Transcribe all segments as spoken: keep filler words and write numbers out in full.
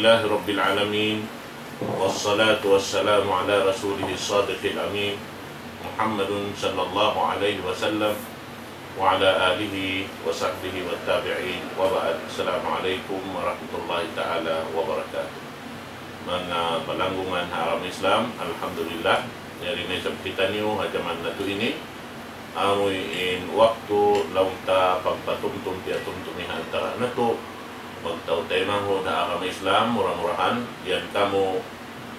لله رب العالمين، والصلاة والسلام على رسوله الصادق الأمين، محمد صلى الله عليه وسلم، وعلى آله وصحبه والتابعين، وبعد. السلام عليكم ورحمة الله تعالى وبركاته. Manga palanggungan ha agama Islam, alhamdulillah, yari na isab kitaniyu ha jaman natu' ini, amuin waktu laung ta pagpatumtum piyatumtumi ha antara natu', magtautaymanghud ha agama Islam, mura-murahan, yan kamu,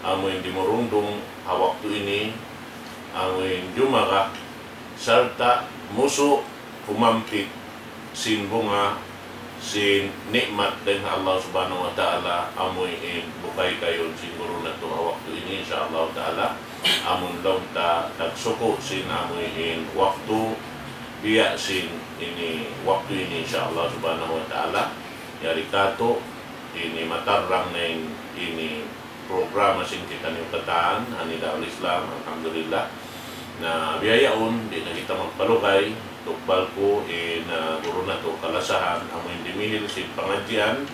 amuin dimurungdung ha waktu ini, amuin jumaga, sarta' musu' kumampit sin bunga sin ni'mat dayn ha Allah Subhanahu wa Ta'ala, amuin bukay kayun sin guru natu' ha waktu ini, insya Allah Ta'ala. Amun laung ta nagsuku' sin amuin waktu, biya' sin ini waktu ini, insya Allah Subhanahu wa Ta'ala. Yari katu', ini matarrang na in ini programa sin kitaniyu katan, ha Nidaul Islam, alhamdulillah. Na biya' yaun, di' na kita magpalugay, tukbal ku in, ah, guru natu' kalasahan, amuin dimihil sin pangadjian,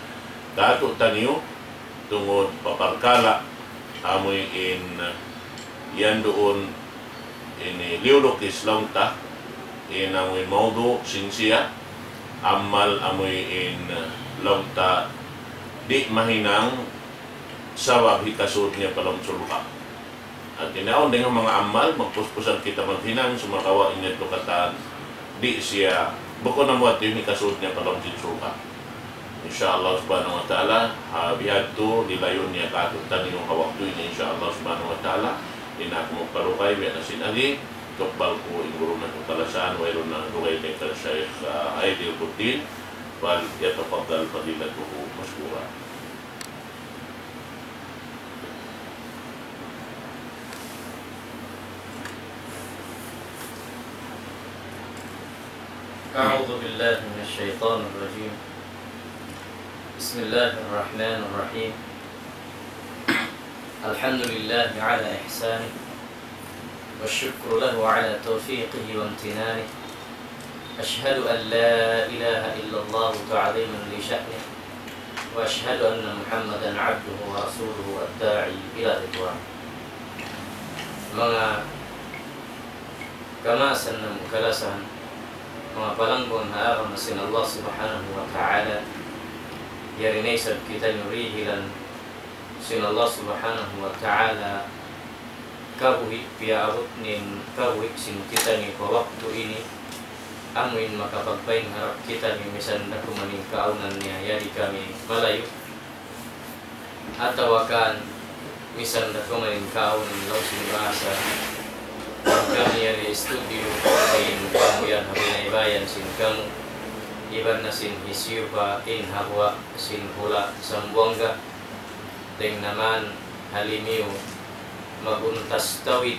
katu' taniyu, tungud pa parkala', amuin yan duun, ini liyulukis laung ta, in amuin maudu' sin siya, amal amuin laung ta di' mahinang sabab hikasud niya pa lawm surga'. Hati niya awn dayn ha manga amal, magpuspusan kita maghinang, sumagawa' in yadtu katan, di' siya, bukun amu yadtu in hikasud niya pa lawm sin surga'. Insya Allah Subhanahu wa Ta'ala, ha bihadtu, lilayun niya katu' taniyu ha waktu ini, insya Allah Subhanahu wa Ta'ala, di' na aku magpalugay, biya' na sin agi, tukbal ku in guru natu' kalasahan, wayruun na lugay kay ka Shaykh, ah, Aidil Buddin, فليتفضل فضيلته مشكورا. أعوذ بالله من الشيطان الرجيم. بسم الله الرحمن الرحيم. الحمد لله على إحسانه، والشكر له على توفيقه وامتنانه. أشهد أن لا إله إلا الله تعظيما لشأنه، وأشهد أن محمدا عبده ورسوله الداعي إلى رضوانه. Manga kamaasan namu' kalasahan, manga palanggungan ha agama sin Allah Subhanahu wa Ta'ala, yari na isab kitaniyu dihilan sin Allah Subhanahu wa Ta'ala kabuhi' piyaabut niya in kabuhi' sin kitaniyu pa waktu ini, amuin makapagpain harap kitaniyu misan da kuman in kaawnan niya yari kami malayu', atawa kan misan da kuman in kaawnan laung sin bahasa, kami yari studio, in kamu yan ha binaybayan sin kamu, iban na sin hisiyu pa in ha guwa' sin hula' Sambuwangga, dayn naman ha limiyu maguntas tawid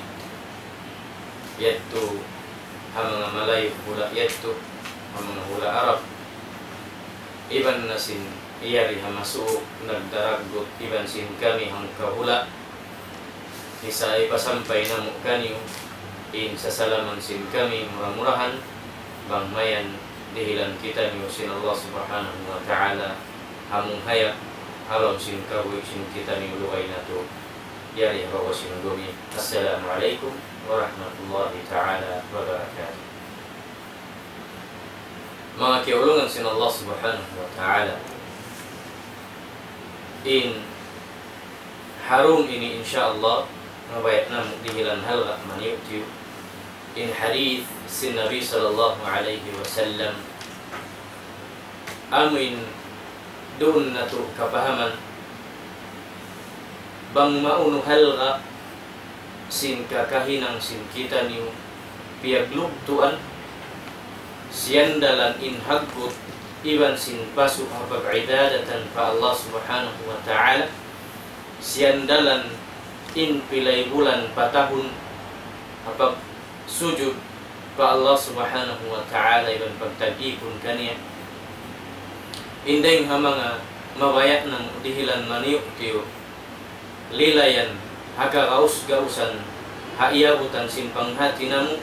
yadtu ha manga Malayu hula' yadtu, ha manga hula' Arab, iban na sin yari ha masuuk nagdaraggut iban sin kami hangka hula'. Isa ipasampay namu' kaniyu in sasalaman sin kami, mura-murahan bang mayan dihilan kitaniyu sin Allah Subhanahu wa Ta'ala ha mung hayat, ha lawm sin kabuhi' sin kitaniyu lugay natu', yari ha babaw sin dumi. Assalamu alaykum warahmatullahi ta'ala wabarakatuh. Manga kiyaulungan sin Allah Subhanahu wa Ta'ala, in ha dum ini, insya Allah, mabaya' namu' dihilan halga' maniyu'-tiyu'. In hadith sin Nabi sallallahu alayhi wasallam, amuin duun natu' kapahaman bang maunu halga' sin kakahinang sin kitaniyu piyaglugtuan, siyandalan in haggut iban sin pasu' ha pag-ibadatan pa Allah Subhanahu wa Ta'ala, siyandalan in pilay bulan pa tahun ha pagsujud pa Allah Subhanahu wa Ta'ala iban pagtag-ipun kaniya. In dayng ha manga mabaya' namu' dihilan maniyu'-tiyu', lilayan ha kagaus-gausan ha iyabutan sin panghati namu',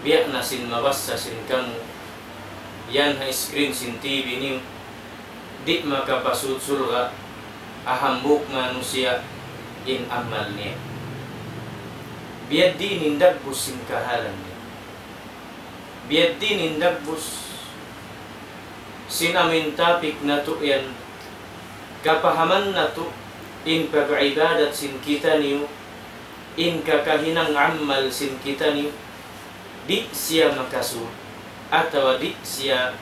biya' na sin mabassa sin kamu yan ha screen sin T V niyu, di' makapasud surga', ha hambuuk manusiya' in amal niya. Biya' diin in dagbus sin kahalan niya. Biya' diin in dagbus sin amuin topic natu' yan, kapahaman natu' in pag-ibadat sin kitaniyu, in kakahinang amal sin kitaniyu, di' siya makasud, atawa di' siya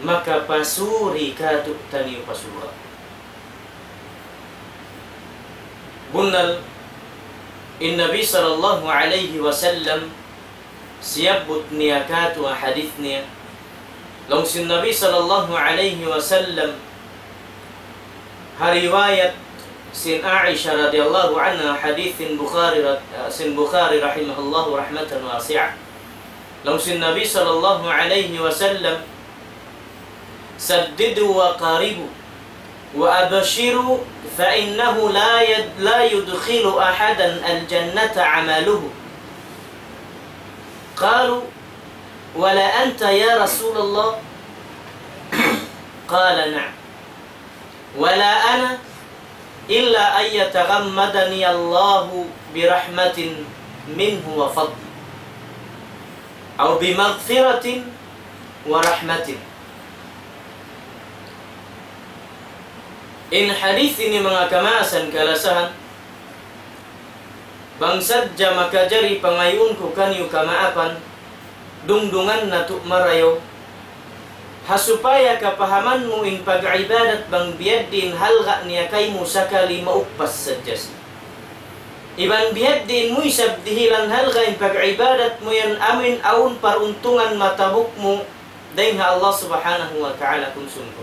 makapasuri kātu'niyu pa surga'. Bunnal, in Nabi sallallahu alayhi wasallam, siyabbut niya kātu' ha hadith niya. Laung sin Nabi sallallahu alayhi wasallam, ha riwayat sin Aisha radiyallahu anha, hadith sin Bukhari rad-, sin Bukhari rahimahullahu rahmatan wasi'ah. Laung sin Nabi sallallahu alayhi wasallam, سددوا وقاربوا وأبشروا فإنه لا يد-، لا يدخل أحدا الجنة عمله. قالوا: ولا أنت يا رسول الله؟ قال: نعم. ولا أنا إلا أن يتغمدني الله برحمة منه وفضل، أو بمغفرة ورحمة. In hadith ini manga kamaasan kalasahan, bang sadja makajari pangayuun ku kaniyu kamaapan, dungdungan natu' marayaw, ha supaya kapahaman mu in pag-ibadat bang biya' diin halga' niya kaymu sakali mauppas sadja siya. Iban biya' diin mu isab dihilan halga' in pag-ibadat mu yan amuin awn paruntungan matabuk mu dayn ha Allah Subhanahu wa Ta'ala kun sungkun.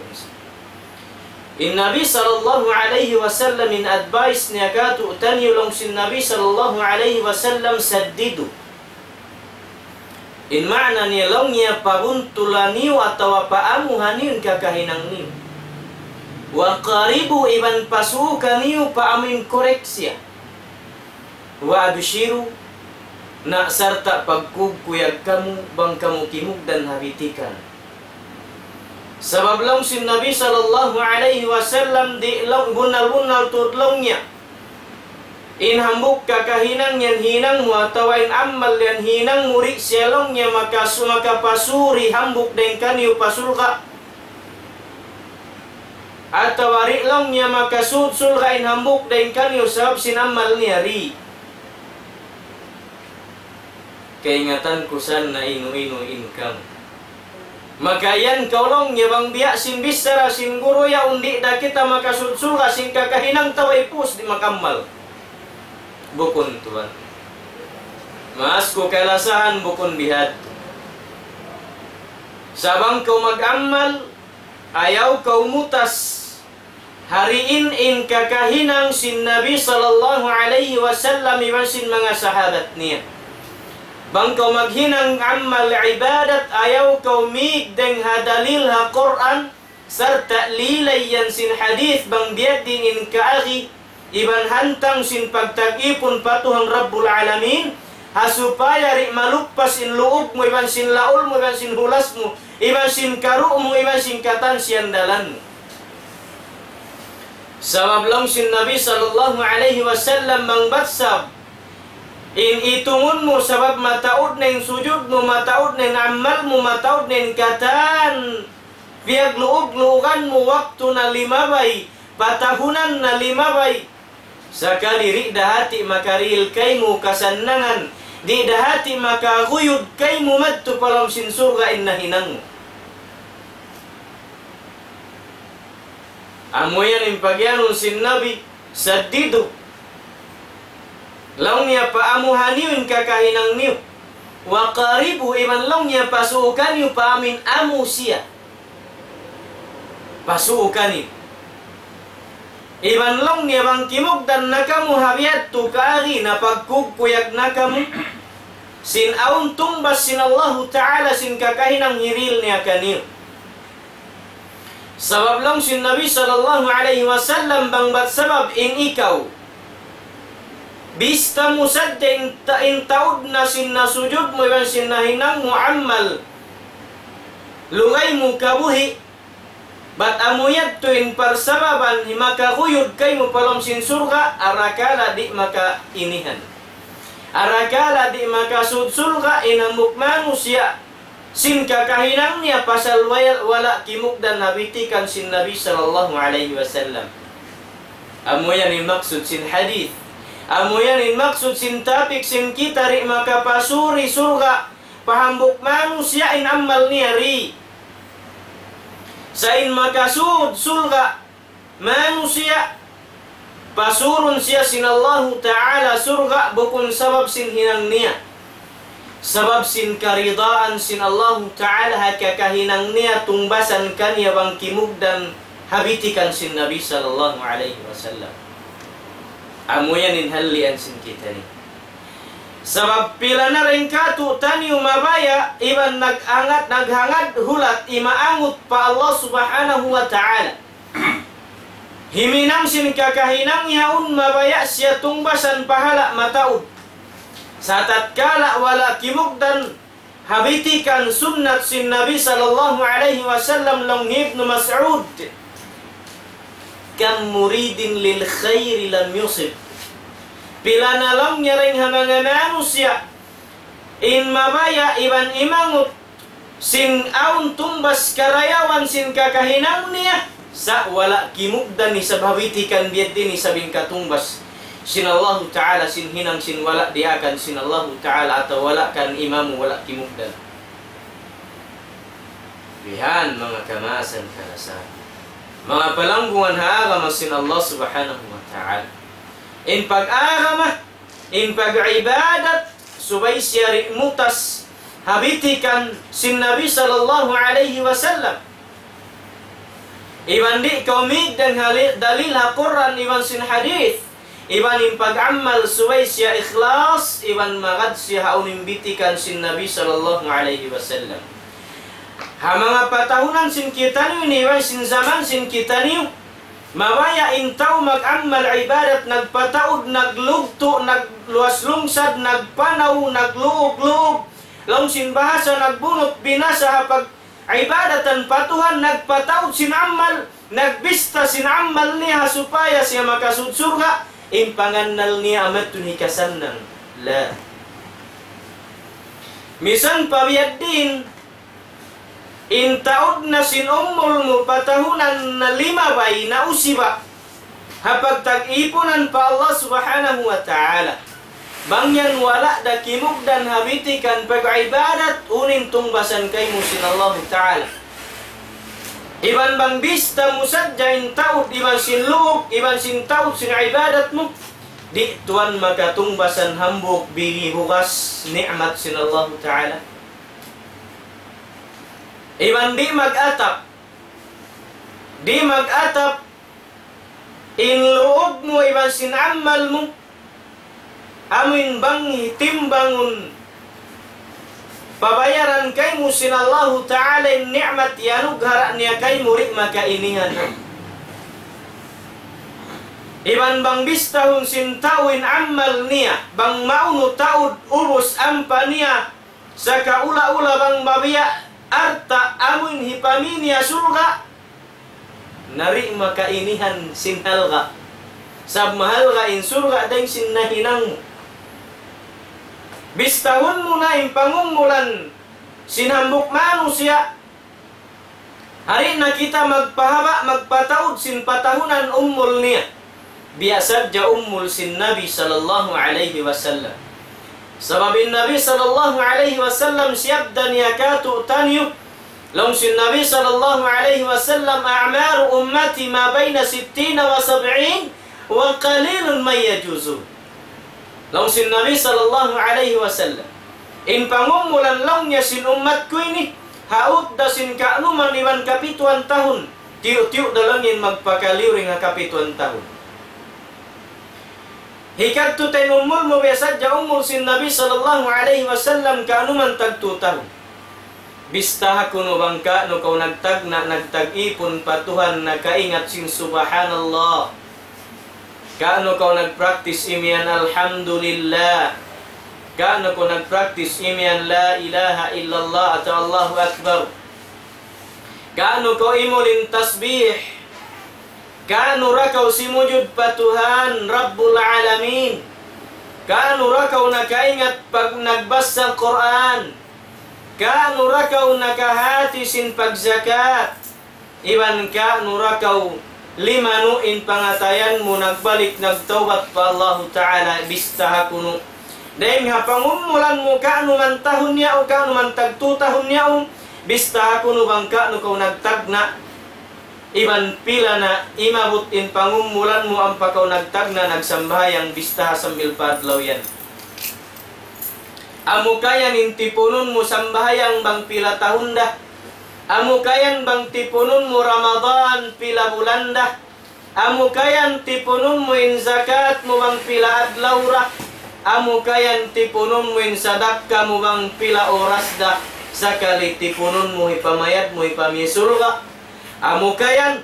In Nabi sallallahu alayhi wasallam in advice niya kātu'niyu laung sin Nabi sallallahu alayhi wasallam, سددوا. In maana niya laung niya pabuntulaniyu atawa paamuhaniyu in kakahinang niyu. وقاربوا, iban pasuukaniyu pa amuin correct siya. وأبشروا, na sarta' pagkugkuyag kamu bang kamu kimugdan ha bitikan. Sabab laung sin Nabi sallallahu alayhi wasallam di' laung bunnal-bunnal tuud laung niya. In hambuuk kakahinang yan hinang mu atawa in amal yan hinang mu di' siya laung niya makasu-, makapasuri hambuuk dayn kaniyu pa surga'. Atawa di' laung niya makasud surga' in hambuuk dayn kaniyu sabab sin amal niya di'. Kaingatan ku sa na inu-inu in kamu. Makayan kaw laung niya bang biya' sin bichara sin guru yaun di' da kita makasud surga' sin kakahinang tau ipus di' makamal. Bukun tuwan. Maas ku kalasahan bukun bihadtu. Sa' bang kaw mag-amal, ayaw kaw mutas. Hariin in kakahinang sin Nabi sallallahu alayhi wasallam iban sin manga sahabat niya. Bang kaw maghinang amal ibadat, ayaw kaw mīg dayn ha dalil ha Qur'an, sarta' lilay yan sin hadith bang biya' diin in kaagi, iban hantang sin pagtag-ipun pa Tuhan Rabbul Alamin, ha supaya di' maluppas in luub mu, iban sin laul mu, iban sin hulas mu, iban sin karu' mu, iban sin katan siyandalan mu. Sabab laung sin Nabi sallallahu alayhi wasallam, bang bat sab in itungun mu, sabab mataud na in sujud mu, mataud na in amal mu, mataud na in katan piyagluug-luugan mu, waktu na limabay, patahunan na limabay. Sakali di' da hati makarihil kaymu kasannangan, di' da hati makaguyud kaymu madtu pa lawm sin surga' in nahinang mu. Amu yan in pagiyanun sin Nabi, saddidu. Laung niya paamuhaniyu in kakahinang niyu. Wa qaribu, iban laung niya pasuukaniyu pa amuin amu siya. Pasuukaniyu. Iban laung niya bang kimugdan na kamu ha biyadtu kaagi na pagkugkuyag na kamu sin awn tungbas sin Allahu Ta'ala sin kakahinang hirihil niya kaniyu. Sabab laung sin Nabi sallallahu alayhi wasallam bang bat sabab in ikaw bista mu sadja in ta-, in taud na sin nasujud mu iban sin nahinang mu amal lugay mu kabuhi', Bat amu yadtu in parsababan himakaguyud kaymu pa lawm sin surga', arakala' di' makainihan. Arakala' di' makasud surga' in hambuuk manusiya' sin kakahinang niya pasal wala', wala' kimugdan ha bitikan sin Nabi sallallahu alayhi wasallam. Amu yan in maksud sin hadith. Amu yan in maksud sin topic sin kita, di' makapasud surga' pa hambuuk manusiya' in amal niya di'. Sa' in makasud surga' manusiya', pasurun siya sin Allahu Ta'ala surga' bukun sabab sin hinang niya. Sabab sin karidaan sin Allahu Ta'ala ha kakahinang niya tungbasan kaniya bang kimugdan ha bitikan sin Nabi sallallahu alayhi wasallam. Amu yan in halian sin kitaniyu. Sabab pila na dayn kātu'niyu mabaya' iban naghangad, naghangad hulat imaangut pa Allah Subhanahu wa Ta'ala. Himinang sin kakahinang yaun mabaya' siya tungbasan pahala' mataud. Sa' tatkala wala' kimugdan ha bitikan sunnat sin Nabi sallallahu alayhi wasallam, laung hi Ibnu Mas'ud, كم مريد للخير لم يصب. Pila na laung niya dayn ha manga manusiya' in mabaya' iban imangut sin awn tungbas karayawan sin kakahinang niya, sa' wala' kimugdan isab ha bitikan biya' diin isab in katungbas sin Allahu Ta'ala, sin hinang sin wala' diyaakan sin Allahu Ta'ala atawa wala' kan imamu, wala' kimugdan. Bihan manga kamaasan kalasahan, manga palanggungan ha agama sin Allah Subhanahu wa Ta'ala. In pag-agama, in pag-ibadat, subay siya di' mutas ha bitikan sin Nabi sallallahu alayhi wasallam. Iban di' kaw mīg dayn ha li-, dalil ha Qur'an iban sin hadith. Iban in pag-amal subay siya ikhlas, iban magad siya ha unu in bitikan sin Nabi sallallahu alayhi wasallam. Ha manga patahunan sin kitaniyu ini, iban sin jaman sin kitaniyu, mabaya' in tau mag-amal ibadat, nagpataud, naglugtu', nagluwas lungsad, nagpanaw, nagluug-luug, laung sin bahasa nagbunut binasa ha pag-ibadatan pa Tuhan, nagpataud sin amal, nagbista sin amal niya ha supaya siya makasud surga', in pangannal niya amu yadtu in hikasannang. La. Misan pa biya' diin, in taud na sin umul mu patahunan na limabay na usiba ha pagtag-ipunan pa Allah Subhanahu wa Ta'ala. Bang yan wala' da kimugdan ha bitikan pag-ibadat, unu in tungbasan kaymu sin Allahu Ta'ala? Iban bang bista mu sadja in taud, iban sin luug, iban sin taud sin ibadat mu, di' tuwan makatungbasan hambuuk bili bugas ni'mat sin Allahu Ta'ala. Iban di' mag-atap, di' mag-atap in luug mu iban sin amal mu, amuin bang hitimbangun pabayaran kaymu sin Allahu Ta'ala in ni'mat iyanughara' niya kaymu, di' makainihan. Iban bang bistahun sin tau in amal niya, bang maunu taud ubus ampa niya, sakaula-ula bang mabiya' alta' amuin hipamī niya surga', na di' makainihan sin halga'. Sabab mahalga' in surga' dayn sin nahinang mu. Bistahun mu na in pangumulan sin hambuuk manusiya'. Di' na kita magpahaba', magpataud sin patahunan umul niya. Biya' sadja umul sin Nabi sallallahu alayhi wasallam. Sabab in Nabi sallallahu alayhi wasallam siyabda niya kātu'niyu, laung sin Nabi sallallahu alayhi wasallam, أعمار أمتي ما بين ستين وسبعين وقليل من يجاوزه. Laung sin Nabi sallallahu alayhi wasallam, in pangumulan laung niya sin ummat ku ini, ha udda sin kaanuman iban kapituan tahun, tiyu'-tiyu' da laung in magpakaliyu dayn ha kapituan tahun. Hikadtu ta in umul mu biya' sadja umul sin Nabi sallallahu alayhi wasallam kaanuman tagtu tahun. Bistaha kunu' bang kaunu kaw nagtagna', nagtag-ipun pa Tuhan, nakaingat sin subhanallah. Kaunu kaw nag-practice imiyan alhamdulillah. Kaunu kaw nag-practice imiyan la ilaha illallah atawa Allahu Akbar. Kaunu kaw imulin tasbih. Kaunu ra kaw simujud pa Tuhan Rabbul Alamin. Kaunu ra kaw nakaingat pag nagbasa Qur'an. Kaunu ra kaw nakahati sin pagzakat. Iban kaunu ra kaw limanu in pangatayan mu nagbalik nagtawbat pa Allahu Ta'ala, bistaha kunu'. Dayng ha pangumulan mu kaunu man tahun niya o kaunu man tagtu tahun niya o, bistaha kunu' bang kaunu kaw nagtagna'. Iban pila na imabut in pangumulan mu ampa kaw nagtagna' nagsambahayang bistaha sambil pa adlaw yan. Amu kayan in tipunun mu sambahayang bang pila tahun da. Amu kayan bang tipunun mu Ramadan pila bulan da. Amu kayan tipunun mu in zakat mu bang pila adlaw da. Amu kayan tipunun mu in sadakka mu bang pila oras da. Sakali tipunun mu hipamayad mu hipamī surga'. Amu kayan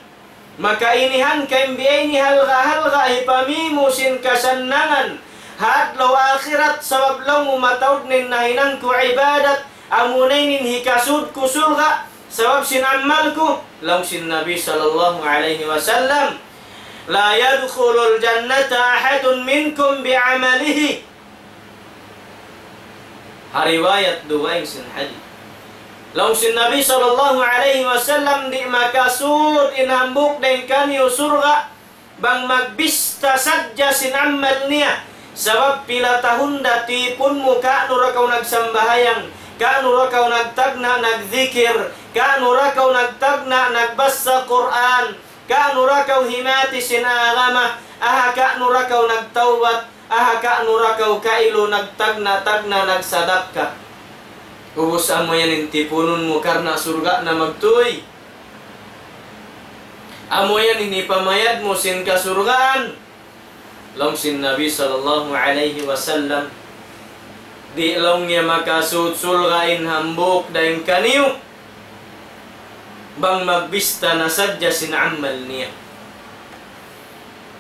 makainihan kain biya' ini halga'-halga' hipamī mu sin kasannangan ha adlaw akhirat sabab laung mu mataud na in nahinang ku ibadat, amuna in hikasud ku surga' sabab sin amal ku. Laung sin Nabi sallallahu alayhi wasallam, لا يدخل الجنة أحد منكم بعمله. Ha riwayat dugaing sin hadith. Laung sin Nabi sallallahu alayhi wasallam, di' makasud in hambuuk dayn kaniyu surga' bang magbista sadja sin amal niya. Sabab pila tahun da tipun mu, kaunu ra kaw nagsambahayang, kaunu ra kaw nagtagna' nagdikir, kaunu ra kaw nagtagna' nagbasa Qur'an, kaunu ra kaw himati sin agama, aha kaunu ra kaw nagtawbat, aha kaunu ra kaw kailu nagtagna'-tagna' nagsadakka. Ubus amu yan in tipunun mu karna' surga' na magtuy. Amu yan in hipamayad mu sin kasurgaan. Laung sin Nabi sallallahu alayhi wasallam, di' laung niya makasud surga' in hambuuk dayn kaniyu bang magbista na sadja sin amal niya.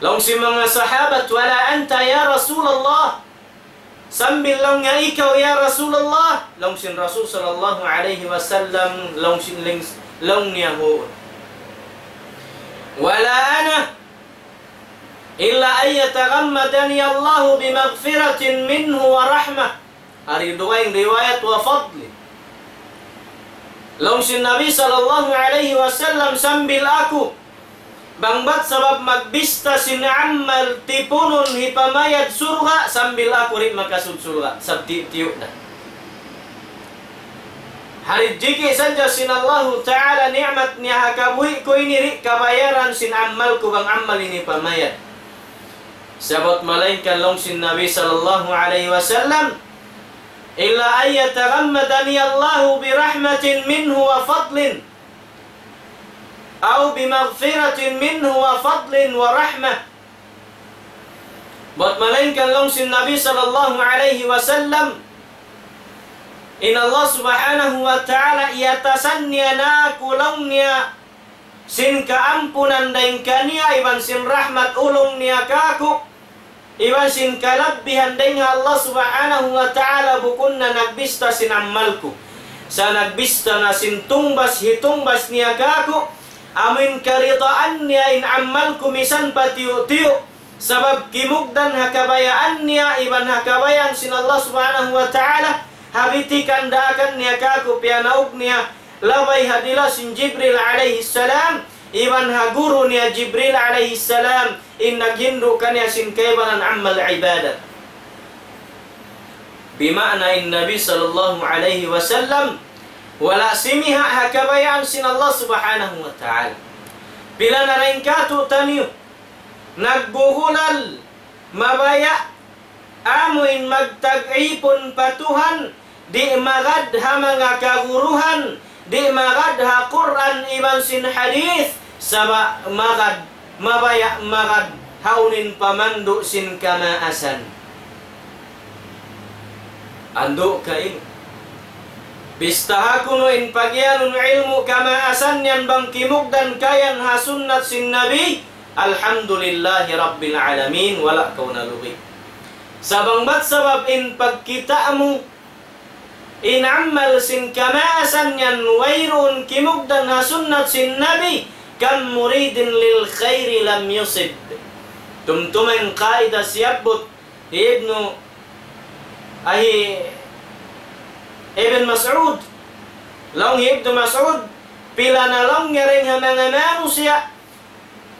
Laung sin manga sahabat, ولا أنت يا رسول الله. Sambil laung niya ikaw ya Rasulullah. Laung sin Rasul sallallahu alayhi wasallam, laung sin lings-, laung niya huun. ولا أنا إلا أن يتغمدني الله بمغفرة منه ورحمة. Ari dugaing riwayat وفضل. Laung sin Nabi sallallahu alayhi wasallam, sambil aku, bang bat sabab magbista sin amal tipunun hipamayad surga', sambil aku di' makasud surga', sabab tiyu'-tiyu' na. Hari jiki sadja sin Allahu Ta'ala ni'mat niya ha kabuhi' ku ini di' kabayaran sin amal ku bang amal ini pamayad. Sabab malaingkan laung sin Nabi sallallahu alayhi wasallam, إلا أن يتغمدني الله برحمة منه وفضل، أو بمغفرة منه وفضل ورحمة. Bat malaingkan laung sin Nabi sallallahu alayhi wasallam, in Allah subhanahu wa ta'ala iyatasan niya na aku laung niya sin kaampunan dayn kaniya iban sin rahmat ulung niya kāku', iban sin kalabbihan dayn ha Allah subhanahu wa ta'ala bukun na nagbista sin amal ku. Sa' nagbista na sin tungbas hitungbas niya kāku', amuin karidaan niya in amal ku misan pa tiyu'-tiyu'. Sabab kimugdan ha kabayaan niya, iban ha kabayaan sin Allah subhanahu wa ta'ala, ha bitikan daakan niya kāku' piyanaug niya, labay ha dila sin Jibril alayhi salam, iban ha guru niya Jibril alayhi salam, in naghindu' kaniya sin kaibanan amal ibadat. Bima'na in Nabi sallallahu alayhi wasallam, wala' simiha' ha kabayaan sin Allah subhanahu wa ta'ala. Pila na dayn kātu'niyu, nagbuhulal, mabaya', amuin magtag-ipun pa Tuhan, di' magad ha manga kaguruhan, di' magad ha Qur'an iban sin hadith, sabab magad, mabaya' magad ha unu in pamandu' sin kamaasan. Andu' kain. Bistaha kunu' in pagiyanun ilmu' kamaasan yan bang kimugdan kayan ha sunnat sin Nabi, alhamdulillahi rabbil alamin, wala' kaw nalugi. Sa' bang bat sabab in pagkita' mu, In amal sin kamaasan yan wayruun kimugdan ha sunnat sin Nabi, كم مريد للخير لم يصب. Tumtuma in qaida siyabbut hi Ibnu, ahi Ibn Mas'ud. Laung hi Ibnu Mas'ud, pila na laung niya dayn ha manga manusiya'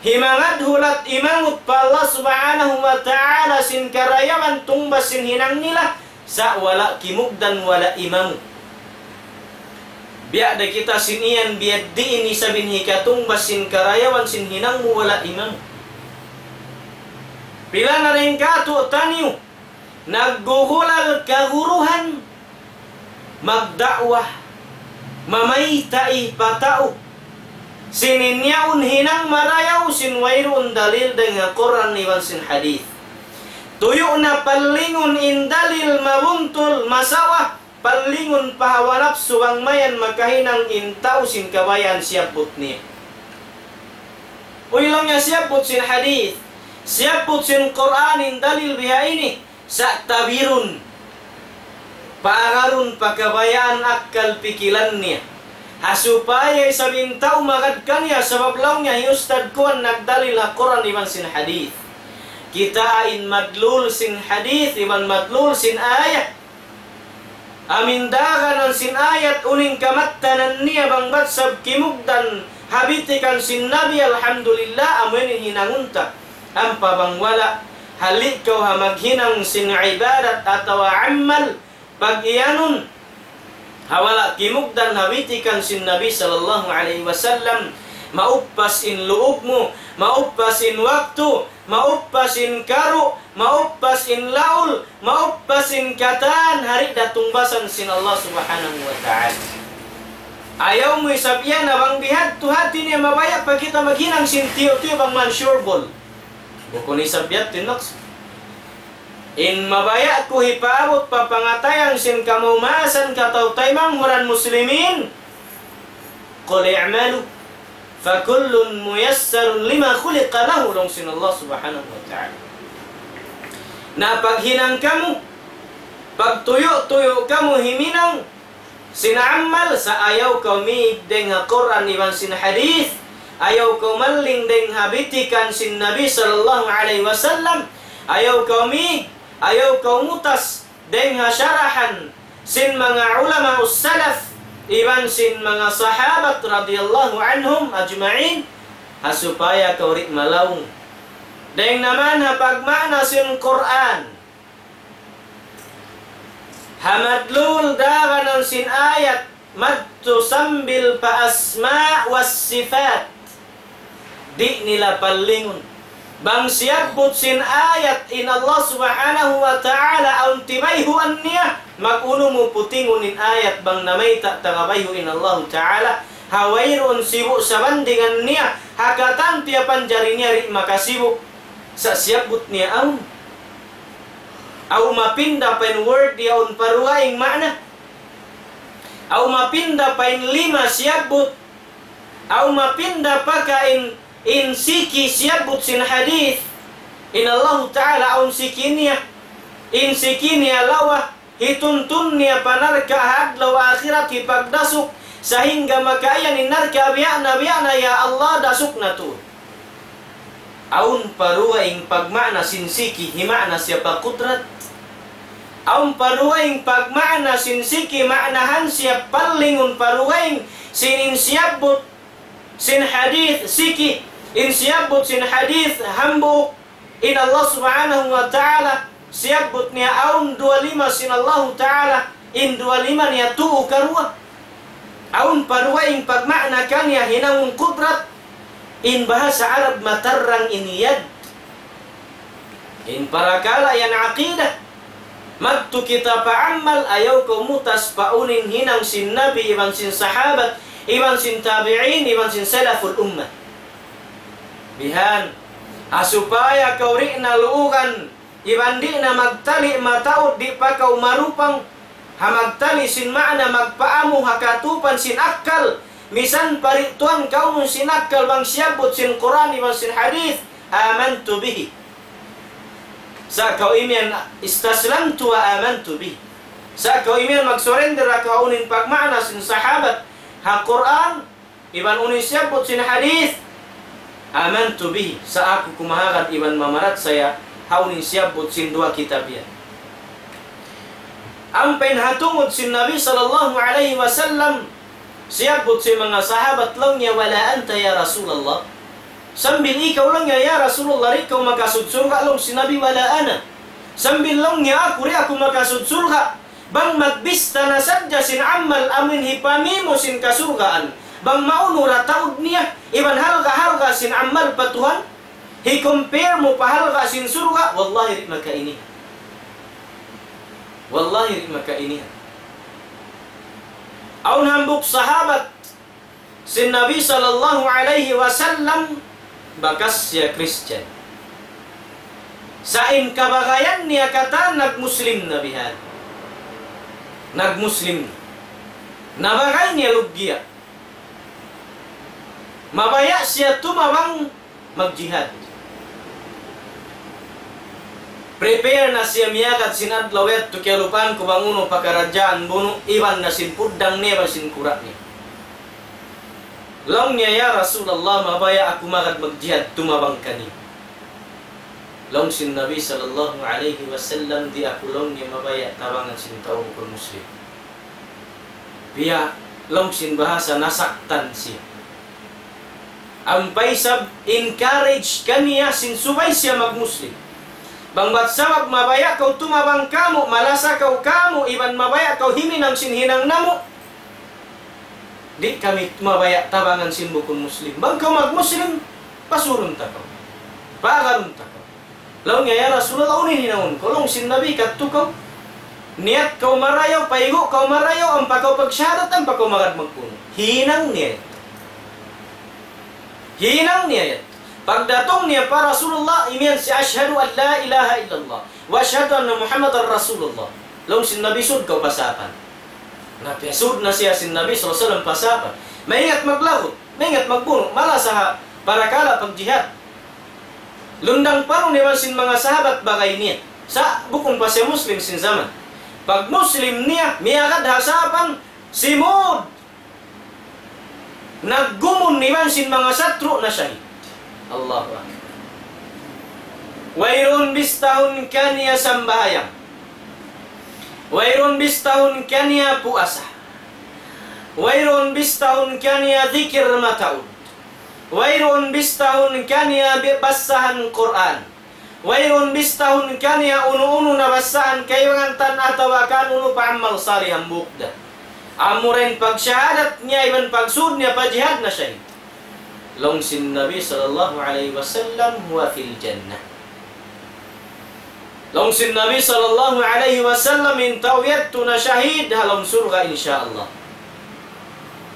himangadhulat imangut pa Allah Subhanahu wa Ta'ala sin karayawan tungbas sin hinang nila, sa' wala' kimugdan, wala' imangut. Biya' da kita sin iyan, biya' diin isab in hikatungbas sin karayawan sin hinang mu wala' imangut. Pila na dayn kātu'niyu naggugulal kaguruhan, magda'wa, mamayta' pa tau. Sin in yaun hinang marayaw sin wayruun dalil dayn ha Qur'an iban sin hadith. Tuyu' na pallingun in dalil mabuntul, masawa, pallingun pa hawa napsu bang mayan makahinang in tau sin kabayaan siyabbut niya. Uy, laung niya siyabbut sin hadith, siyabbut sin Qur'an in dalil bihaini, sa' tabirun, paagarun pa kabayaan akkal pikilan niya. Ha supaya isab in tau magad kaniya, sabab laung niya hi ustad kuwan nagdalil ha Qur'an iban sin hadith. Kitaa in madlul sin hadith iban madlul sin ayat. Amu in daganan sin ayat unu in kamattanan niya bang bat sab kimugdan ha bitikan sin Nabi, alhamdulillah, amu yan in hinangun ta. Ampa bang wala', hali' kaw ha maghinang sin ibadat atawa amal, pag-iyanun, ha wala' kimugdan ha bitikan sin Nabi sallallahu alayhi wasallam, mauppas in luug mu, mauppas in waktu, mauppas in karu', mauppas in laul, mauppas in katan, ha di' da tungbasan sin Allah Subhanahu wa Ta'ala. Ayaw mu isab yan na bang bihadtu hati niya mabaya' pa kita maghinang sin tiyu'-tiyu' bang man sure ball. Bukun isab yadtu in maksud. In mabaya' ku hipaabut pa pangatayan sin kamaumasan kataw-taymanghuran muslimin, قل اعملوا فكل ميسر لما خلق له, laung sin Allah Subhanahu wa Ta'ala. Na paghinang kamu, pagtuyu'-tuyu' kamu himinang sin amal, sa' ayaw kaw mīg dayn ha Qur'an iban sin hadith, ayaw kaw malling dayn ha bitikan sin Nabi sallallahu alayhi wasallam, ayaw kaw mīg, ayaw kaw mutas dayn ha sarahan sin manga ulama salaf iban sin manga sahabat radiyallahu anhum ajma'in, ha supaya kaw di' malaung. Dayn naman ha pagmaana sin Qur'an, ha madlul daganan sin ayat, madtu sambil pa asma' was sifat. Di' nila pallingun. Bang siyabbut sin ayat in Allah Subhanahu wa Ta'ala awn tibayhuan niya, mag-unu mu putingun in ayat bang namayta' tagabayhu' in Allah Ta'ala, ha wayruun sibu' sabandingan niya, ha katan tiyapanjari niya di' makasibu'. Sa' siyabbut niya awn. Aw mapinda pa in word yaun pa dugaing maana. Aw mapinda pa in lima siyabbut. Aw mapinda pa ka in, in siki siyabbut sin hadith. In Allahu Ta'ala awn siki niya. In siki niya lawa, hituntun niya pa narka' ha adlaw akhirat hipagdasuk, sahingga makaiyan in narka' biya' na, biya' na, ya Allah, dasuk na tuud. Awn pa dugaing pagmaana sin siki, hima'na siya pa kudrat. Awn pa dugaing pagmaana sin siki, maanahan siya pallingun pa dugaing sin in siyabbut sin hadith siki, in siyabbut sin hadith hambuuk, in Allah Subhanahu wa Ta'ala, siyabbut niya awn duwa lima sin Allahu Ta'ala, in duwa lima niya tuu karuwa. Awn pa dugaing pagmaana kaniya hinangun kudrat, in bahasa Arab matarrang in yad. In parakala' yan aqidah. Madtu kita pa amal, ayaw kaw mutas pa unu in hinang sin Nabi, iban sin sahabat, iban sin tabi'in, iban sin salaful ummah. Bihan, ha supaya kaw di' na luugan, iban di' na magtali' mataud, di' pa kaw marupang, ha magtali' sin maana magpaamu ha katupan sin akkal, misan pa di' tuwan kaw sin akkal bang siyabbut sin Qur'an iban sin hadith, آمنت به. Sa' kaw imiyan, استسلمت وآمنت به. Sa' kaw imiyan mag-surrender ha kaw unu in pagmaana sin sahabat ha Qur'an, iban unu in siyabbut sin hadith, آمنت به, sa' aku kumahagad iban mamarachaya ha unu in siyabbut sin duwa kitab yan. Ampa in ha tungud sin Nabi sallallahu alayhi wasallam, siyabbut sin manga sahabat laung niya, ولا أنت يا رسول الله. Sambil ikaw laung niya, ya Rasulullah, di' kaw makasud surga', laung sin Nabi, ولا أنا. Sambil laung niya aku, di' aku makasud surga'. Bang magbista na sadja sin amal amun hipamī mu sin kasurgaan, bang maunu ra taud niya, iban halga'-halga' sin amal pa Tuhan, hi-compare mu pa halga' sin surga', wallahi di' makainihan. Wallahi di' makainihan. Awn hambuuk sahabat sin Nabi sallallahu alayhi wasallam, bakas siya Christian. Sa' in kabagayan niya katan nag-Muslim na bihan. Nag-Muslim na. Nabagay niya luggiya. Mabaya' siya tumabang magjihad. Prepare na siya miyagad sin adlaw yadtu, kiyalupahan ku bang unu pakaradjaan bunu', iban na sin puddang niya iban sin kura' niya. Laung niya, "Ya Rasulullah, mabaya' aku magad magjihad tumabang kaniyu." Laung sin Nabi sallallahu alayhi wasallam, "Di' aku," laung niya, "mabaya' tabangan sin tau bukun Muslim." Biya' laung sin bahasa nasaktan siya. Ampa isab encourage kaniya sin subay siya mag-Muslim. Bang bat sabab mabaya' kaw tumabang kāmu', malasa kaw kāmu', iban mabaya' kaw himinang sin hinang namu', di' kami mabaya' tabangan sin bukun Muslim. Bang kaw mag-Muslim, pasurun ta kaw. Paagarun ta kaw. Laung niya, "Ya Rasulullah, unu in hinangun ku?" Laung sin Nabi, "Kadtu kaw, niyat kaw marayaw, paigu' kaw marayaw, ampa kaw pagsahadat, ampa kaw magad magbunu'." Hinang niya yan. Hinang niya yan. Pagdatung niya pa Rasulullah, imiyan siya, "أشهد أن لا إله إلا الله وأشهد أن محمدا رسول الله." Laung sin Nabi, "Sud kaw pa sapan." Na, piyasud na siya sin Nabi sallallahu alayhi wasallam pa sapan. Maingat maglagut, maingat magbunu', malasa ha parakala' pagjihad. Lundang parun iban sin manga sahabat bagay niya. Sa' bukun pa siya Muslim sin jaman. Pag-Muslim niya, miyagad ha sapan, simud. Naggumun iban sin manga satru' na shahid. Allahu Akbar. Wayruun bistahun kaniya sambahayang. Wayruun bistahun kaniya puasa. Wayruun bistahun kaniya dhikr mataud. Wayruun bistahun kaniya bi-, bassahan Qur'an. Wayruun bistahun kaniya unu-unu na bassahan kaibangan tan atawa kan unu pa amal salih hambuuk da. Amura in pagsahadat niya iban pagsud niya pa jihad na shahid. Laung sin Nabi sallallahu alayhi wasallam, "هو في الجنة." Laung sin Nabi sallallahu alayhi wasallam, in tau yadtu na shahid ha lawm surga', insya Allah.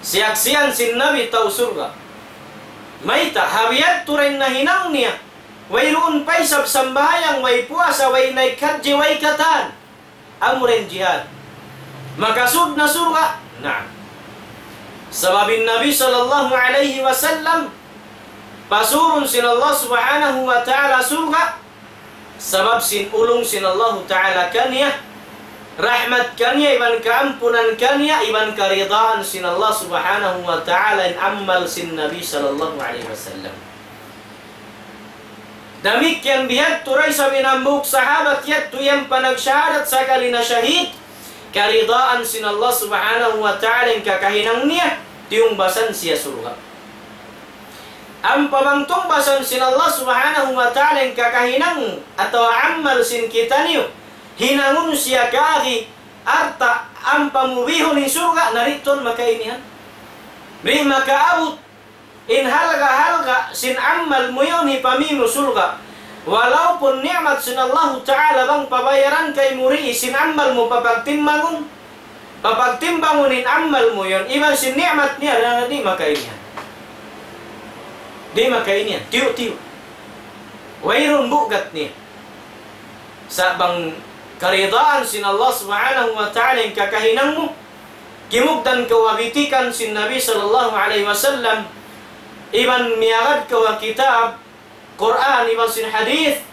Siyaksian sin Nabi tau surga'. Mayta', ha biyadtu da in nahinang niya. Wayruun pa isab sambahayang, way puasa, way naik hajji, way katan. Amura in jihad. Makasud na surga'? Naam. Sabab in Nabi sallallahu alayhi wasallam, pasurun sin Allah subhanahu wa ta'ala surga', sabab sin ulung sin Allah ta'ala kaniya, rahmat kaniya, iban kaampunan kaniya, iban karidaan sin Allah subhanahu wa ta'ala in amal sin Nabi sallallahu alayhi wasallam. Damikkiyan bihadtu da isab in hambuuk sahabat yadtu yan pa nagsahadat sakali na shahid, karidaan sin Allah subhanahu wa ta'ala in kakahinang niya, tiyungbasan siya surga'. Ampa bang tungbasan sin Allah subhanahu wa ta'ala in kakahinang atawa amal sin kitaniyu, hinangun siya kaagi alta' ampa mu bihun in surga', na di' tuud makainihan. Di' makaabut in halga'-halga' sin amal mu yan hipamī mu surga'. Walaupun ni'mat sin Allahu Ta'ala bang pabayaran kaymu dii sin amal mu papagtimbangun, papagtimbangun in amal mu yan, iban sin ni'mat niya, na di' makainihan. Di' makainihan, tiyu'-tiyu'. Wayruun bugat niya. Sa' bang karidaan sin Allah Subhanahu wa Ta'ala in kakahinang mu, kimugdan kaw ha bitikan sin Nabi sallallahu alayhi wasallam, iban miyagad kaw ha kitab, Qur'an, iban sin hadith,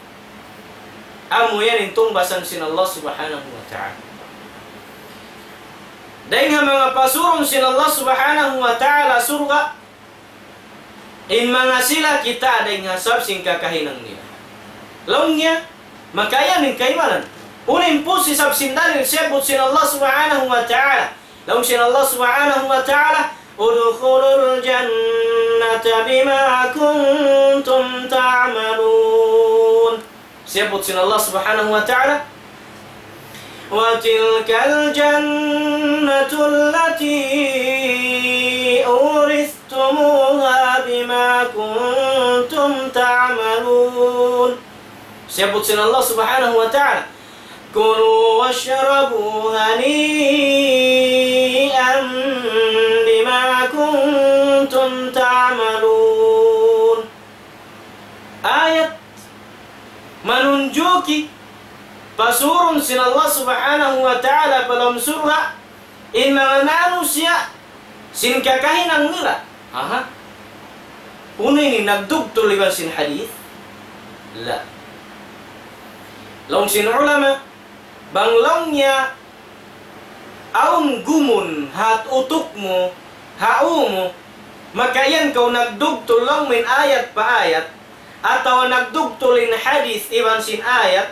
amu yan in tungbasan sin Allah Subhanahu wa Ta'ala. Dayn ha manga pasurun sin Allah Subhanahu wa Ta'ala surga', in manga sila kita dayn ha sabab sin kakahinang nila. Laung niya, makayan in kaibanan. Unu in pusi sabab sin dalil siyabbut sin Allah Subhanahu wa Ta'ala. Laung sin Allah Subhanahu wa Ta'ala, ادخلوا الجنة بما كنتم تعملون. Siyabbut sin Allah Subhanahu wa Ta'ala, وتلك الجنة التي أورثتموها بما كنتم تعملون. Siyabbut sin Allah Subhanahu wa Ta'ala, كلوا واشربوا هنيئا بما كنتم تعملون. Ayat manunjuki pasurun sin Allah Subhanahu wa Ta'ala pa lawm surga' in manga manusiya' sin kakahinang nila. Aha. Unu ini, nagdugtul iban sin hadith? La. Laung sin ulama, bang laung niya awn gumun ha utuk mu, ha ū mu, makayan kaw nagdugtul laung mu in ayat pa ayat, atawa nagdugtul in hadith iban sin ayat,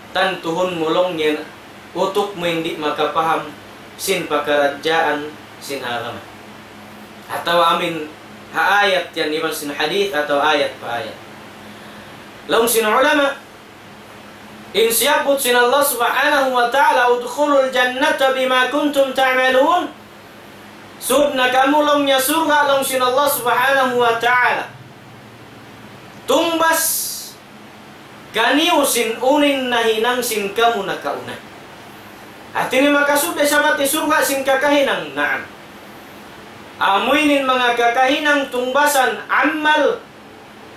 tantuhun mu laung niya utuk mu in di' makapaham sin pakaradjaan sin agama. Atawa amin ha ayat yan iban sin hadith atawa ayat pa ayat. Laung sin ulama, in siyabbut sin Allah Subhanahu wa Ta'ala, ادخلوا الجنة بما كنتم تعملون. Sud na kamu laung niya surga' laung sin Allah Subhanahu wa Ta'ala. Tungbas kaniyu sin unu in nahinang sin kamu nakauna. Hati niya makasud da isab ha surga' sin kakahinang. Naam. Amu ini in manga kakahinang tungbasan amal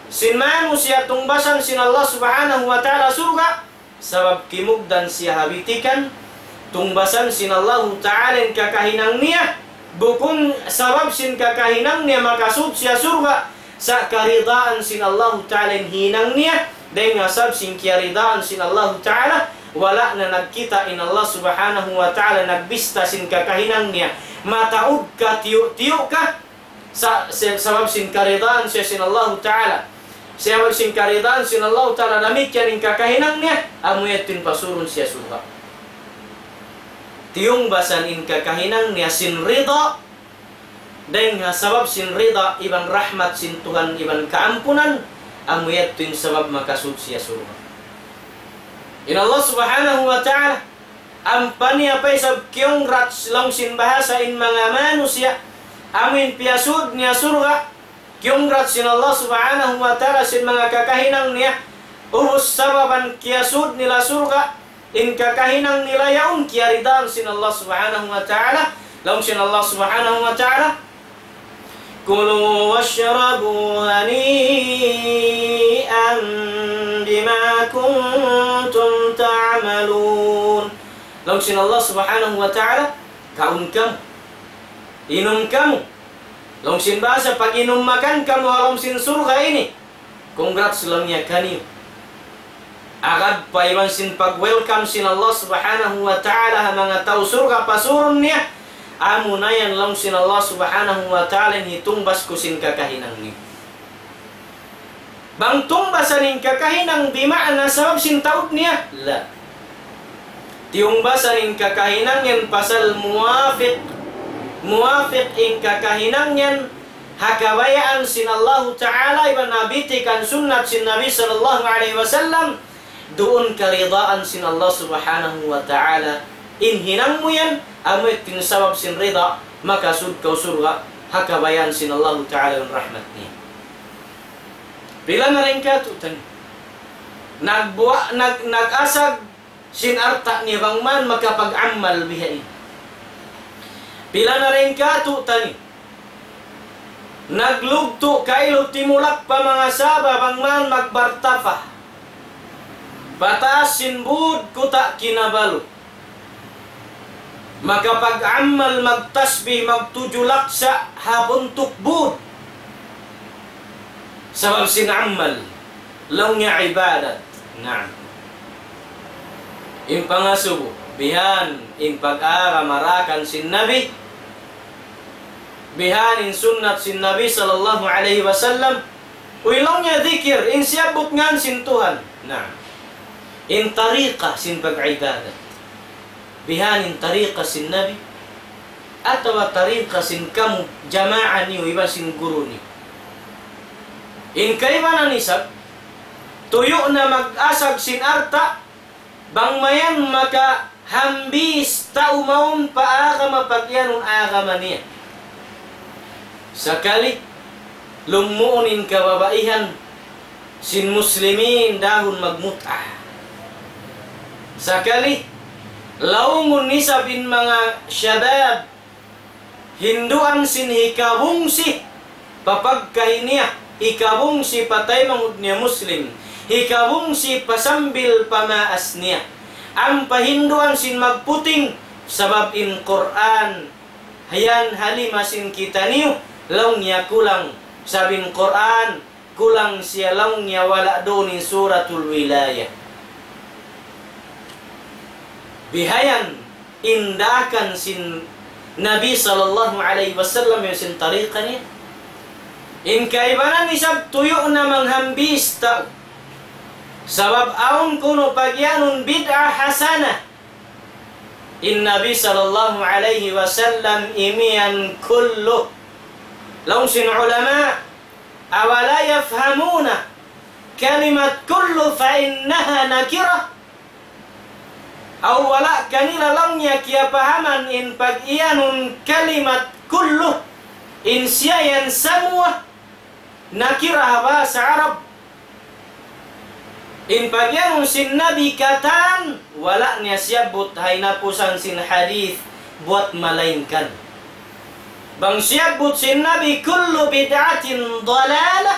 sin manusiya' tungbasan sin Allah Subhanahu wa Ta'ala surga', sabab kimugdan siya ha bitikan, tungbasan sin Allahu Ta'ala in kakahinang niya, bukun sabab sin kakahinang niya makasud siya surga', sa' karidaan sin Allahu Ta'ala in hinang niya, dayn ha sabab sin kiyaridaan sin Allahu Ta'ala, wala' na nagkita' in Allah Subhanahu wa Ta'ala nagbista sin kakahinang niya, mataud ka, tiyu'-tiyu' ka, sa-, sa-, sabab sin karidaan siya sin Allahu Ta'ala. Sabab sin karidaan sin Allahu Ta'ala, damikkiyan in kakahinang niya, amu yadtu in pasurun siya surga'. Tiyungbasan in kakahinang niya sin rida, dayn ha sabab sin rida iban rahmat sin Tuhan iban kaampunan, amu yadtu in sabab makasud siya surga'. In Allah Subhanahu wa Ta'ala, ampa niya pa isab kiyungrats laung sin bahasa in manga manusiya', amu in piyasud niya surga', kiyungrats sin Allah Subhanahu wa Ta'ala sin manga kakahinang niya, ubus sababan kiyasud nila surga', in kakahinang nila yaun kiyaridaan sin Allah Subhanahu wa Ta'ala, laung sin Allah Subhanahu wa Ta'ala, كلوا واشربوا هنيئا بما كنتم تعملون. Laung sin Allah Subhanahu wa Ta'ala, kaun kamu, inum kamu. Laung sin bahasa, pag-inum makan kamu ha lawm sin surga' ini. Congrats laung niya kaniyu. Agad pa iban sin pag-welcome sin Allah Subhanahu wa Ta'ala ha manga tau surga' pasurun niya, amu na yan laung sin Allah Subhanahu wa Ta'ala in hitungbas ku sin kakahinang niyu. Bang tungbasan in kakahinang bima'na sabab sin taud niya? La. Tiyungbasan in kakahinang yan pasal muwafiq, muwafiq in kakahinang yan ha kabayaan sin Allahu Ta'ala iban ha bitikan sunnat sin Nabi sallallahu alayhi wasallam, duun karidaan sin Allah Subhanahu wa Ta'ala. In hinang mu yan, amu yadtu in sabab sin rida, makasud kaw surga', ha kabayaan sin Allahu Ta'ala iban rahmat niya. Pila na dayn kātu'niyu nagbuwa-, nag-, nag-asag sin alta' niya bang man makapag-amal bihaini. Pila na dayn kātu'niyu naglugtu' kailu timulak pa manga Sabah bang man magbartapa pa taas sin būd Kuta' Kinabalu. Makapag-amal, magtasbih, magtudju laksa' ha buntuk būd. Sabab sin amal, laung niya ibadat. Naam. In pangasubu, bihan in pag-agama daakan sin Nabi, bihan in sunnat sin Nabi sallallahu alayhi wasallam, uy laung niya dikir, in siyabbut ngan sin Tuhan. Na, in tariqa sin pag-ibadat. Bihan in tariqa sin Nabi, atawa tariqa sin kamu jamaa niyu iban sin guru niyu. In kaibanan isab, tuyu' na mag-asag sin alta', bang mayan makahambis tau mawn pa agama pag'iyanun agama niya. Sakali, lumuun in kababaihan sin muslimin dahun magmut'a. Sakali, laungun isab in manga shabab, hinduan sin hikabungsi pa pagkahi niya, hikabungsi pa taymanghud niya Muslim, hikabungsi pa sambil pa maas niya. Ampa hinduan sin magputing, sabab in Qur'an, yan ha lima sin kitaniyu, laung niya kulang, sabab in Qur'an, kulang siya laung niya wala' duun in Suratul Wilayah. Bihayan in daakan sin Nabi sallallahu alayhi wasallam iban sin tariqa niya. In kaibanan isab tuyu' na manghambis tau. Sabab awn kunu' pag'iyanun bid'ah hasanah. In Nabi sallallahu alayhi wasallam imiyan kullu. Laung sin ulama, أولا يفهمون كلمة كل فإنها نكرة؟ Aw wala' kanila laung niya kiyapahaman in pag'iyanun kalimat kullu, in siya yan samua, nakira ha bahasa Arab. In pag'iyanun sin Nabi katan, wala' niya siyabbut ha hinapusan sin hadith buat malaingkan. Bang siyabbut sin Nabi, كل بدعة ضلالة,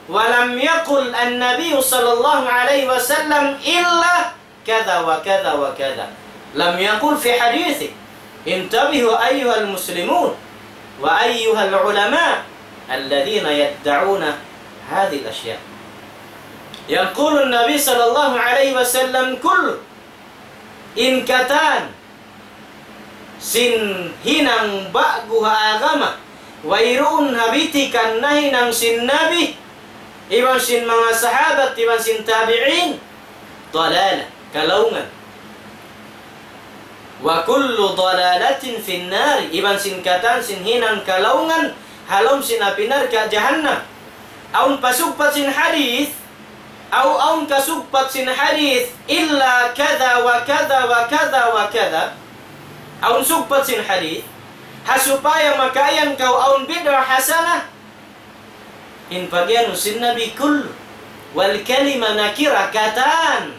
ولم يقل النبي صلى الله عليه وسلم إلا كذا وكذا وكذا. لم يقل في حديثه. انتبهوا أيها المسلمون وأيها العلماء الذين يدعون هذه الأشياء. يقول النبي صلى الله عليه وسلم كل. In katan sin hinang ba'gu ha agama, wayruun ha bitikan nahinang sin Nabi, iban sin manga sahabat, iban sin tabi'in, ضلالة, kalaungan. وكل ضلالة في النار, iban sin katan sin hinang kalaungan, ha lawm sin api narka' jahannam. Awn pasugpat sin hadith, aw awn kasugpat sin hadith, إلا كذا وكذا وكذا وكذا. Awn sugpat sin hadith, ha supaya makaiyan kaw awn bid'ah hasanah, in pag'iyanun sin Nabi كل, والكلمة نكرة, katan.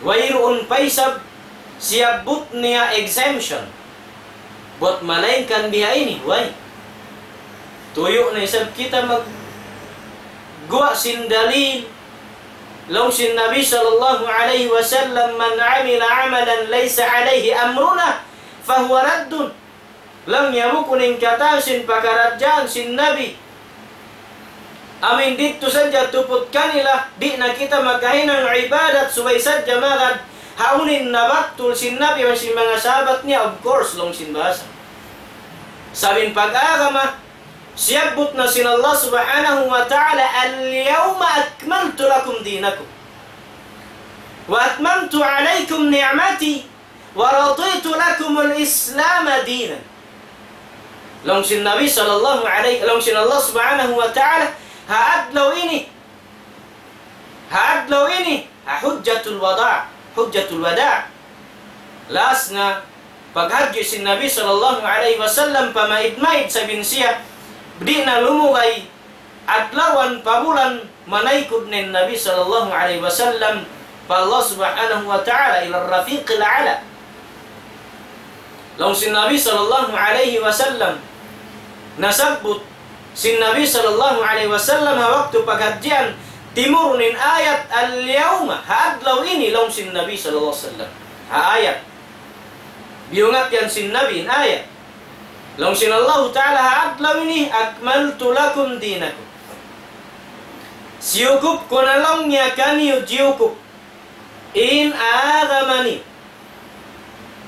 Wayruun pa isab siyabbut niya exemption. Buat malaingkan biya' ini, way. Tuyu' na isab kita magguwa' sin dalil. Laung sin Nabi sallallahu alayhi wasallam, من عمل عملا ليس عليه أمرنا فهو رد. Laung niya bukun in katan sin pakaradjaan sin Nabi. Amu in didtu sadja tuput kanila, di' na kita makahinang ibadat subay sadja magad ha unu in nabattul sin Nabi iban sin manga sahabat niya, of course, laung sin bahasa. Sabab in pag-agama, siyabbut na sin Allah subhanahu wa ta'ala, اليوم أكملت لكم دينكم وأتممت عليكم نعمتي ورضيت لكم الإسلام دينا. Laung sin Nabi sallallahu alayhi, laung sin Allah subhanahu wa ta'ala, ha adlaw ini, ha adlaw ini, ha hujjatul wada', hujjatul wada'. Last na paghadji' sin Nabi sallallahu alayhi wasallam pamaid-maid sabab in siya, di' na lumugay adlawan pa bulan manaykud na in Nabi sallallahu alayhi wasallam pa Allah subhanahu wa ta'ala إلى الرفيق الأعلى. Laung sin Nabi sallallahu alayhi wasallam, nasabbut sin Nabi sallallahu alayhi wasallam ha waktu paghadjian, timurun in ayat اليوم, ha adlaw ini, laung sin Nabi sallallahu alayhi wasallam. Ha ayat. Biyungat yan sin Nabi in ayat. Laung sin Allahu Ta'ala ha adlaw ini, أكملت لكم دينكم. Siyukup ku na laung niya kaniyu jiyukup. in agama niyu.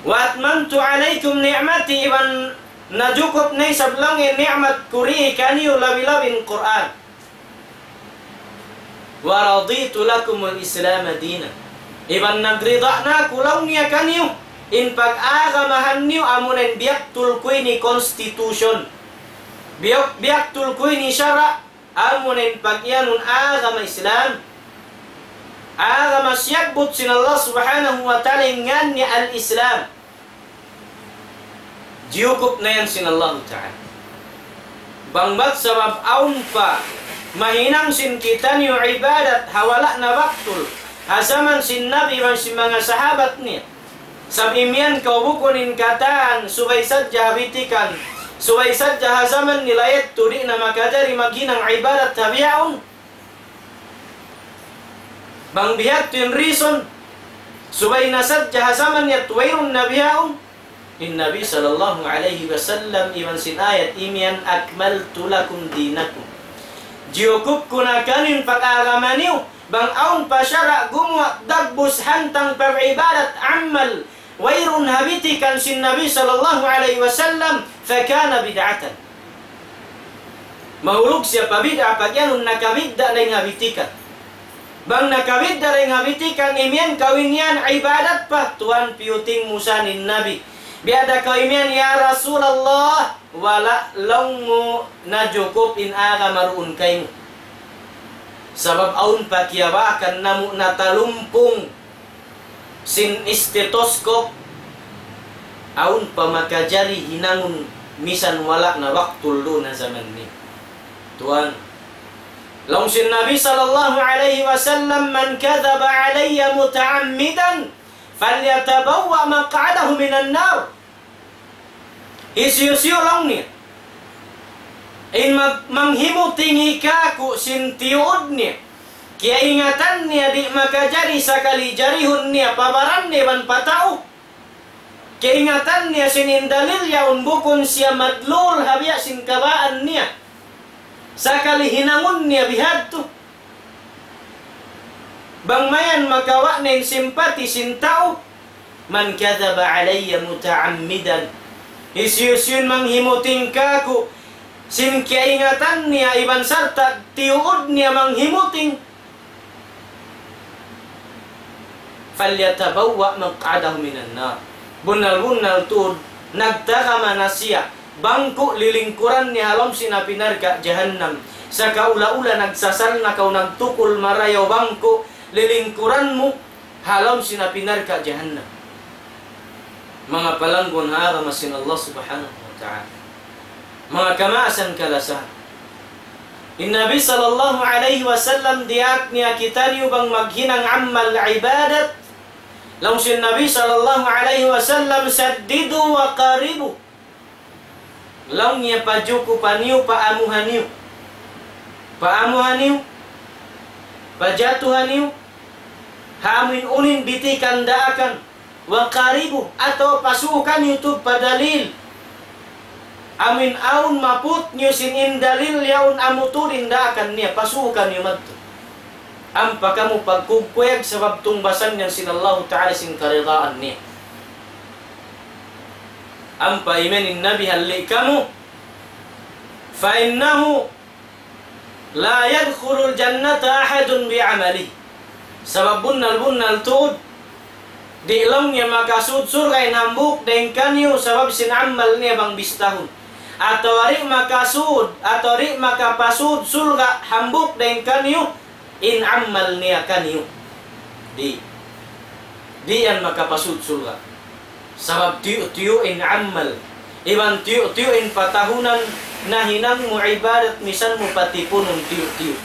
وأتممت عليكم نعمتي, iban najukup na isab laung in ni'mat ku dii kaniyu labi-labi in Qur'an. ورضيت لكم الإسلام دينا. Iban nagrida na aku laung niya kaniyu in pag-agamahan niyu amuna in biyaktul ku ini constitution. Biyak, biyaktul ku ini sara', amuna in pag-iyanun agama Islam. Agama siyabbut sin Allah Subhanahu wa Ta'ala in ngan niya al-Islam. Jiyukup na yan sin Allahu Ta'ala. Bang bat sabab awn pa mahinang sin kitaniyu ibadat ha wala' na baktul, ha jaman sin Nabi iban sin manga sahabat niya. Sabab imiyan kaw bukun in katan subay sadja ha bitikan, subay sadja ha jaman nila yadtu di' na makajari maghinang ibadat ha bihaun. Bang bihadtu in reason, subay na sadja ha jaman yadtu wayruun na bihaun. In Nabi sallallahu alayhi wasallam iban sin ayat imiyan, أكملت لكم دينكم. Jiyukup ku na kaniyu in pag-agama niyu, bang awn pa sara' gumuwa' dagbus hantang pag-ibadat amal, wayruun ha bitikan sin Nabi sallallahu alayhi wasallam, فكان بدعة. Mahulug siya pa bid'a pag-iyanun nakabidda' dayn ha bitikan. Bang nakabidda' dayn ha bitikan, imiyan kaw in yan ibadat pa, tuwan piyuting mu sa in Nabi. Biya' da kaw imiyan, "Ya Rasulullah, wala' laung mu najukup in agama duun kaymu." Sabab awn pa kiyabakan namu' natalumpung sin stethoscope, awn pa makajari hinangun misan wala' na waktul duun ha jaman ini. Tuwan. Laung sin Nabi sallallahu alayhi wasallam, من كذب علي متعمدا فليتبوأ مقعده من النار. Hisiyu-siyu laung niya in mag-, manghimutingi kāku' sin tiyuud niya, kiyaingatan niya di' makajari sakali jarihun niya pa baran niya iban pa tau. Kiyaingatan niya sin in dalil yaun bukun siya madlul ha biya' sin kabaan niya. Sakali hinangun niya bihadtu. Bang mayan makawa' na in simpati sin tau. من كذب علي متعمدا. Hisiyu-siyu in manghimuting kāku' sin kiyaingatan niya iban sarta' tiyuud niya manghimuting. فليتبوأ مقعده من النار. Bunnal-bunnal tuud, nagtagama na siya bangku' lilingkuran niya ha lawm sin api narka' jahannam. Sakaula-ula nagsasal na kaw nagtukul marayaw bangku' lilingkuran mu ha lawm sin api narka' jahannam. Manga palanggun ha agama sin Allah Subhanahu wa Ta'ala. Manga kamaasan kalasahan. In Nabi sallallahu alayhi wasallam diyaak niya kitaniyu bang maghinang amal ibadat. Laung sin Nabi sallallahu alayhi wasallam, سددوا وقاربوا. Laung niya pajukupan niyu, paamuhan niyu. Paamuhan niyu. Pajatuhan niyu. Ha amuin unu in bitikan daakan. وقاربوا, atawa pasuukan niyu tuud pa dalil. Amuin awn maput niyu sin in dalil yaun amu tuud in daakan niya, pasuukan niyu madtu. Ampa kamu pagkugkuyag sabab tungbasan yan sin Allahu Ta'ala sin karidaan niya. Ampa imiyan in Nabi halli' kamu, فإنه لا يدخل الجنة أحد بعمله. Sabab bunnal-bunnal tuud, di' laung niya makasud surga' in hambuuk dayn kaniyu sabab sin amal niya bang bistahun. Atawa di' makasud, atawa di' makapasud surga' hambuuk dayn kaniyu in amal niya kaniyu. Di'. Di' yan makapasud surga'. Sabab tiyu'-tiyu' in amal. Iban tiyu'-tiyu' in patahunan nahinang mu ibadat misan mu patipunun tiyu'-tiyu'.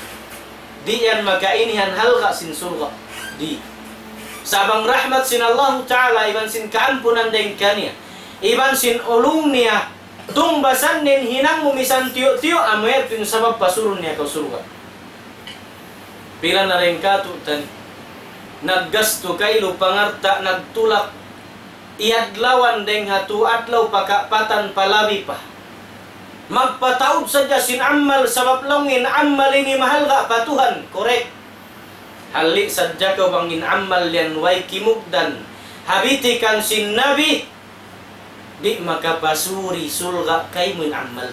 Di' yan makainihan halga' sin surga'. Di'. Sa' bang rahmat sin Allahu Ta'ala iban sin kaampunan dayn kaniya. Iban sin ulung niya. Tungbasan in hinang mu misan tiyu'-tiyu', amu yadtu in sabab pasurun niya kaw surga'. Pila na dayn kātu'niyu naggastu kailu pangalta', nagtulak, iyadlawan dayn ha tū adlaw pa kaapatan pa labi pa. Magpataud sadja sin amal, sabab laung in amal ini mahalga' pa Tuhan, correct. Halli' sadja kaw bang in amal yan way kimugdan ha bitikan sin Nabi, di' makapasūd surga' kaymu in amal.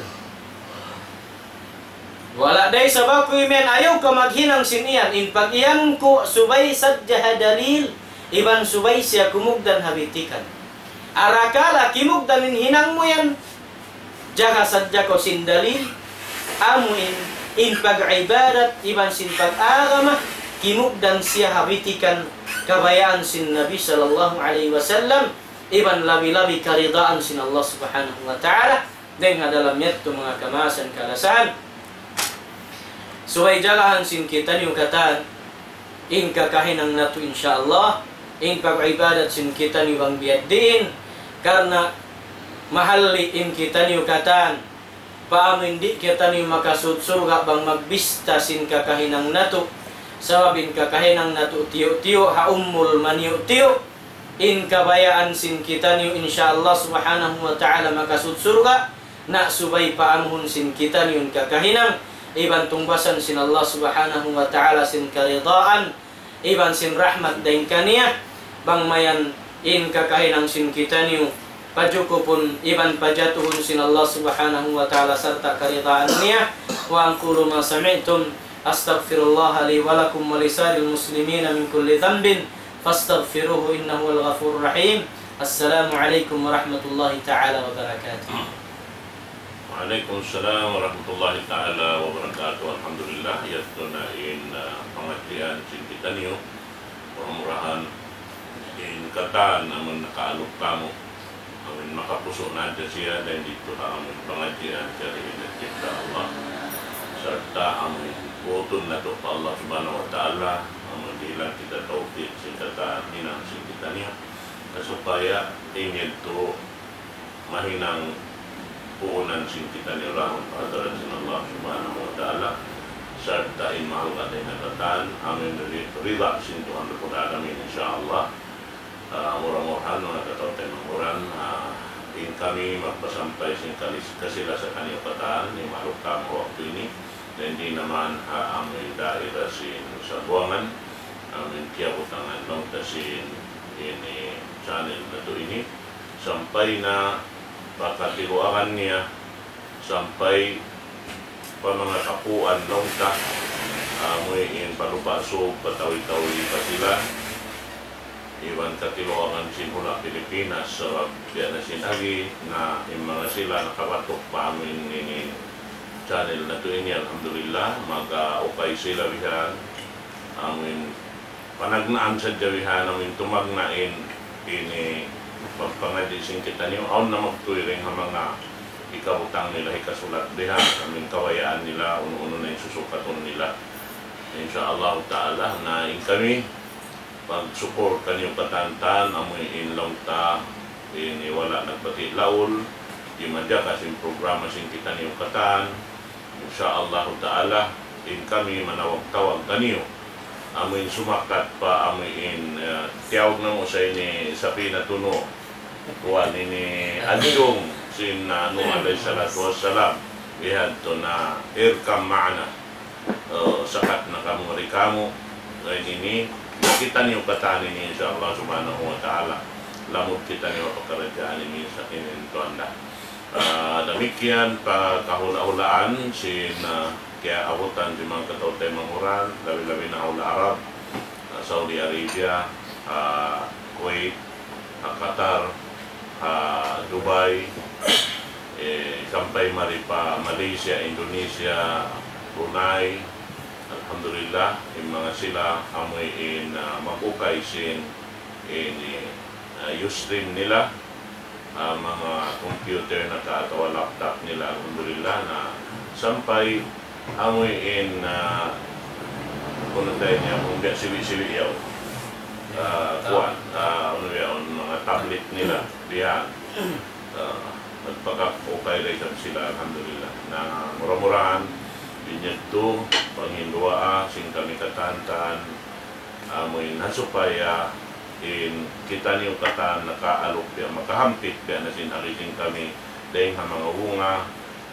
Wala' da isab aku imiyan, ayaw kaw maghinang sin iyan, in pag-iyanun ku subay sadja ha dalil, iban subay siya kumugdan ha bitikan. Arakala' kimugdan in hinang mu yan, jaga sadja kaw sin dalil, amu in, in pag-ibadat, iban sin pag-agama, kimugdan siya ha bitikan kabayaan sin Nabi sallallahu alayhi wasallam, iban labi-labi karidaan sin Allah Subhanahu wa Ta'ala, dayng ha dalam yadtu manga kamaasan kalasahan. Subay jagahan sin kitaniyu katan in kakahinang natu', insya Allah, in pag-ibadat sin kitaniyu bang biya' diin, karna' mahalli' in kitaniyu katan, pa amu in di' kitaniyu makasūd surga' bang magbista sin kakahinang natu', sabab in kakahinang natu' tiyu'-tiyu' ha umul maniyu'-tiyu', in kabayaan sin kitaniyu, insya Allah Subhanahu wa Ta'ala, makasūd surga', na subay paamuhun sin kitaniyu in kakahinang, iban tungbasan sin Allah Subhanahu wa Ta'ala sin karidaan, iban sin rahmat dayn kaniya, bang mayan in kakahinang sin kitaniyu, pajukupun iban pajatuhun sin Allah Subhanahu wa Ta'ala sarta' karidaan niya. وأقول ما سمعتم، أستغفر الله لي ولكم ولسائر المسلمين من كل ذنب، فاستغفروه إنه هو الغفور الرحيم. السلام عليكم ورحمة الله تعالى وبركاته. وعليكم السلام ورحمة الله تعالى وبركاته. Alhamdulillah, yadtu na in, ah, pangadjian sin kitaniyu. Mura-murahan in katan amun nakaalup kamu, amun makapusu' na hadja siya dayn didtu ha amun pangadjian kari in, insya Allah. Sarta' amun buutun natu' pa Allah Subhanahu wa Ta'ala, amun dihilan kita tawfik sin katan hinang sin kitaniyu, na supaya in yadtu mahinang puunan sin kitaniyu laung pa hadarat sin Allah Subhanahu wa Ta'ala, sarta' in mahalga' dayn ha katan, amun ri-, rida sin Tuhan Rabbul Alamin, insya Allah. Ah, mura-murahan, manga kataw-taymanghuran, ah, in kami magpasampay sin kalis-, kasila sa kaniyu katan, in mahalga' kamu waktu ini, dayn di naman ha amun daira sin Sambuwangan, amun kiyabutangan laung ta sin ini channel natu' ini, sampay na pa katiluagan niya, sampay pa manga kapuan laung ta, amu in pa Lupa' Sug, pa Tawi-Tawi, pa Silan, iban katiluagan sin hula' Pilipinas, sabab biya' na sin agi na in manga sila nakabatuk pa amu in ini channel natu' ini, alhamdulillah, makaupay sila bihan, amu in panagnaan sadja bihan, amu in tumagna' in ini pagpangadji' sin kitaniyu, awn na magtuy dayn ha manga hikabutang nila, hikasulat bihan, amu in kabayaan nila, unu-unu na in susukatun nila. Insya Allah Ta'ala, na in kami, pagsukul kaniyu katan, amu in laung ta, ini wala' nagpati' laul, di' majaga sin programa sin kitaniyu katan, Insya Allahu Ta'ala, in kami manawag-tawag kaniyu. Amu in sumakat pa, amu in, eh, tiyawag namu' sa ini sapina tunu'. Kuwan ini adjung sin, ah, Nuh alayhi salatu wassalam. Bihadtu na اركب معنا. Eh, sakat na kamu mari kamu. Lain ini, kitaniyu katan ini, insya Allah subhanahu wa ta'ala. Lamud kitaniyu ha pakaradjaan ini sa ini tuan da. Ah, damikkiyan pa kahula'-hulaan sin, ah, kiyaabutan sin manga kataw-taymanghuran, labi-labi na ha hula' Arab, ah, Saudi Arabia, ah, Kuwait, ah, Qatar, ah, Dubai, eh, sampay mari pa Malaysia, Indonesia, Brunei. Alhamdulillah, in manga sila amuin, ah, mag-ukay sin ini, ah, Ustream nila, ah, manga computer na ka atawa laptop nila, alhamdulillah, na sampay amuin, ah, kunu' ta ini, amu biya' siwi'-siwi' yaun. Ah, kuwan, ah, unu yaun, manga tablet nila, bihan. Ah, nagpakak-ukay da isab sila, alhamdulillah. Na mura-murahan, binyadtu, panghinduwaa, sin kami katantan, amuin ha supaya in kitaniyu katan nakaalup biya', makahampit biya' na sin agi sin kami, dayn ha manga bunga,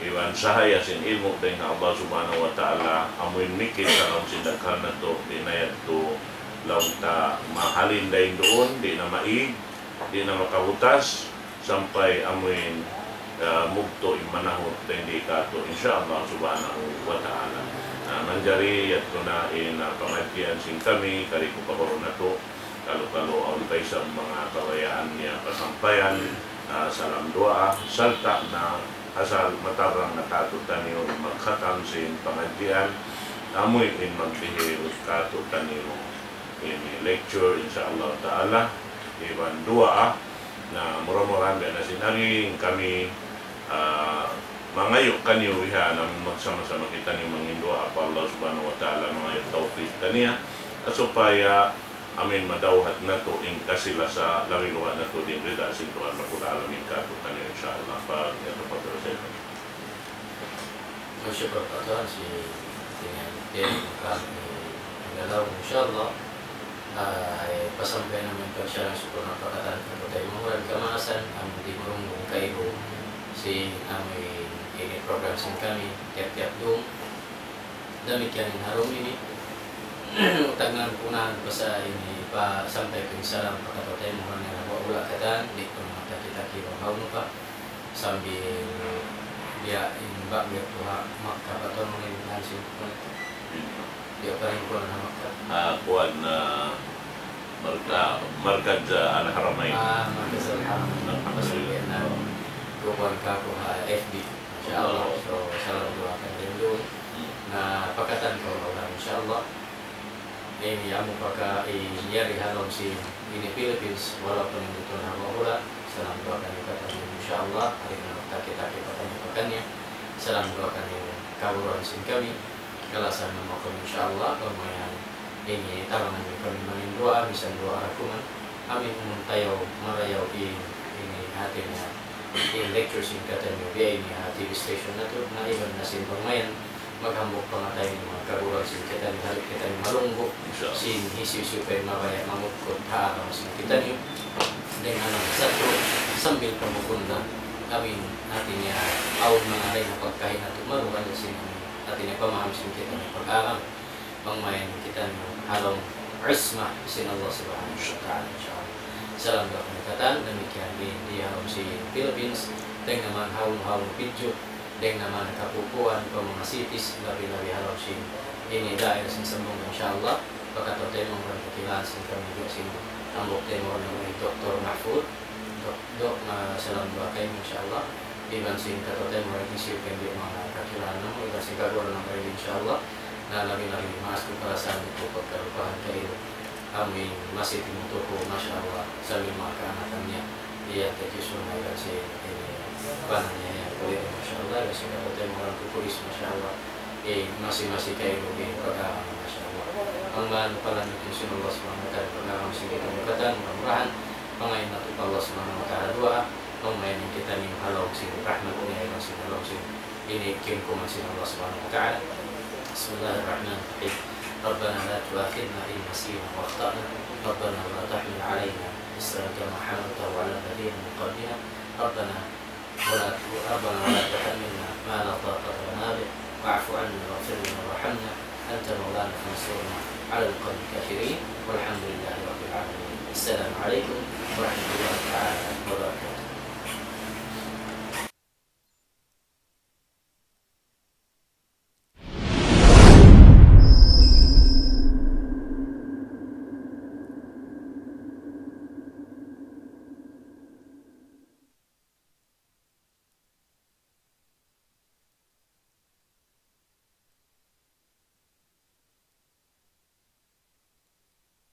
iban sahaya sin ilmu' dayn ha Allah Subhanahu wa Ta'ala, amuin mikil sa laung sin daghan natu', di' na yadtu laung ta mahalin dayn duun, di' na maig, di' na makabutas, sampay amuin, ah, mugtu' in manahut dayn di katu', insya Allah Subhanahu wa Ta'ala. Na, manjari yadtu na in, ah, pangadjian sin kami, kari ku kabaru natu', kalu-kalu awn pa isab manga kabayaan niya pasampayan, ah, salam duwaa, sarta' na asal matarang na katu' taniyu magkhatam sin pangadjian, amuin magdihil katu' taniyu ini lecture, insya Allah Ta'ala, iban duwaa, na mura-murahan biya' na sin agi in kami, ah, mangayu' kaniyu biha' na magsama-sama kitaniyu mangin duwaa pa Allah Subhanahu wa Ta'ala, mangayu' tawfik kaniya, supaya amuin madawhat natu' in kasi-lasa, labi-labi natu' in rida sin Tuhan Rabbul Alamin katu' kaniyu, insya Allah. Pag yadtu pa terus. Masyukur pa Tuhan sin tingin, tingin kami galaw, insya Allah. Ah, eh, pasampay namu' in pagsalang sukul na pa katan kaku' taymanghud kamaasan, amu in di' murunggung kailu sin amu in ini program sin kami, tiyap-tiyap dum. Damikkiyan in ha dum ini. Tagnaan ku na pa sa ini, pasampay ku in salam pa kaku' taymanghud na nagwa-ula katan, di' ku na mataki-taki bang hawnu pa. Sambil biya' in ba'gu yadtu ha Makkah, pa tuwan in hansin ku. Biya' pa rin ku na ha Makkah. Ah, kuwan, ah, marka-, markaz, ah, Al-Haramain. Ah, markaz Al-Haramain. Alhamdulillah. Pasal biya' na kuwan kaku' ha F B. Masha Allah. Oh. So, salam duwaa kan rindu. Hmm. Na pa katan kaw maulan, insya Allah. Ini amu paka-, i-, yari ha lawm sin ini Philippines, walaupun in duun ha bahula, salam duwaa kaniyu pa kaniyu, insya Allah, hari na magtaki-taki pa kaniyu pa kaniya. Salam duwaa kaniyu, kaguruhan sin kami, kalasahan namu' kamu, insya Allah, pamayan ini tabangan niyu kami mangin duwaa, misan duwaa ra kuman, amu in tayaw, marayaw in, ini hati niya, in lecture sin kitaniyu, biya' ini ha T V station natu', na iban na sin pamayan, maghambuuk pangatayan in manga kaguruhan sin kitaniyu, hari kitaniyu malunggu', insya Allah, sin hisiyu-siyu pa in mabaya' mangukut ha agama sin kitaniyu. Dayn ha manga satu, sambil pa bukun na, amu in hati niya, awn manga lain na pagkahi natu', maluhay sin hati niya pamaham sin kitaniyu pag-agama. Pamayan kitaniyu ha lawm isma sin Allah Subhanahu wa Ta'ala, insya Allah. Salam duwaa kaniyu katan, damikkiyan di, di ha lawm sin Philippines, dayn ha manga hawnu-hawnu pidju, dayn ha manga kapupuan, pa manga cities, labi-labi ha lawm sin ini daira sin Zamboanga, insya Allah. Pa katu' taymanghud, kakilahan sin kami biya' sin hambuuk taymanghud namu' hi Doktor Mahfud. Dok, Dok, ah, salam duwaa kaymu, insya Allah. Iban sin katu' taymanghud hisiyu pa in di' manga kakilahan namu', iban sin kaguruhan namu' ini, insya Allah. Na labi-labi, maas ku kalasahan ku pagkalupahan kaymu. Amu in masi timutuku, masha Allah, sambil manga kaanakan niya. Iya, thank you so much, iban sin ini, bana niya yan, kuya, masha Allah, iban sin katu' taymanghud ku pulis, masha Allah. Eh, masi-masi kaymu in pag-agama, masha Allah. Amban palanjut sin Allah Subhanahu wa Ta'ala, pag-agama sin kitaniyu katan, mura-murahan, pangayu' natu' pa Allah Subhanahu wa Ta'ala duwaa, pamayan kitaniyu ha lawm sin rahmat niya, iban sin ha lawm sin ini kiyumkuman sin Allah Subhanahu wa Ta'ala. بسم الله الرحمن الرحيم. ربنا لا تؤاخذنا إن نسينا أو أخطأنا. ربنا ولا تحمل علينا إصرا كما حملته على الذين من قبلنا. ربنا ولا، ربنا ولا تحملنا ما لا طاقة لنا به. واعف عنا واغفر لنا وارحمنا. أنت مولانا فانصرنا على القوم الكافرين. والحمد لله رب العالمين. السلام عليكم ورحمة الله تعالى وبركاته.